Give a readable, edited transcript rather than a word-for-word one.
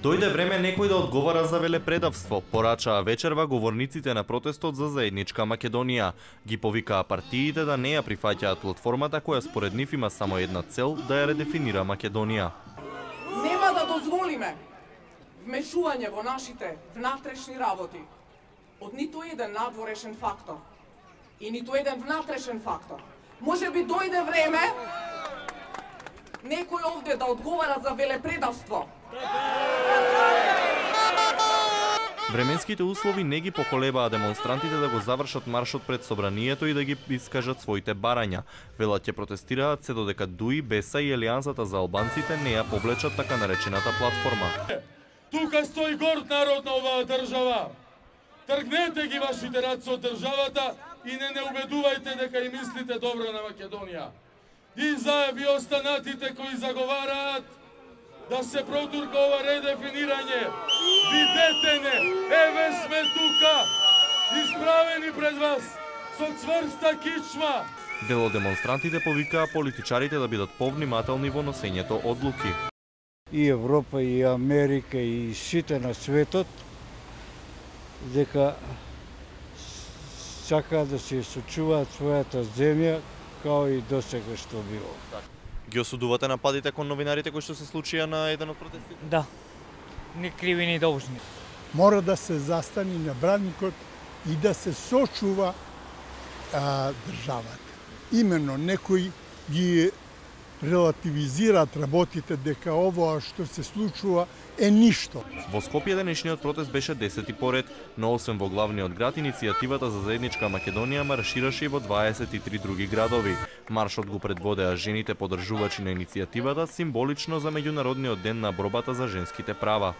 Дојде време некој да одговара за велепредавство, порачаа вечерва говорниците на протестот за заедничка Македонија. Ги повикаа партиите да не ја прифаќаат платформата која според нив има само една цел, да ја редефинира Македонија. Нема да дозволиме вмешување во нашите внатрешни работи од ниту еден надворешен фактор и ниту еден внатрешен фактор. Може би дојде време некој овде да одговара за велепредавство. Временските услови не ги поколебаа демонстрантите да го завршат маршот пред собранието и да ги искажат своите барања. Велат ќе протестираат се додека ДУИ, БЕСА и Елијансата за албанците не ја повлечат така наречената платформа. Тука стои горд народ на оваа држава. Тргнете ги вашите раци од државата и не убедувајте дека и мислите добро на Македонија. И заеби останатите кои заговараат да се протурка ова редефинирање. Видете не, еве сме тука, исправени пред вас, со цврста кичма. Дел од демонстрантите повикаа политичарите да бидат повнимателни во носењето одлуки. И Европа, и Америка, и сите на светот, дека сакаат да се сочуваат својата земја, као и досега што било. Ги осудувате нападите кон новинарите кои што се случија на еден од протестите? Да, ни криви ни должни. Мора да се застани на браникот и да се сочува државата. Именно некои ги релативизираат работите дека овоа што се случува е ништо. Во Скопје денешниот протест беше 10-ти поред, но освен во главниот град, иницијативата за заедничка Македонија маршираше и во 23 други градови. Маршот го предводеа жените поддржувачи на иницијативата, символично за меѓународниот ден на борбата за женските права.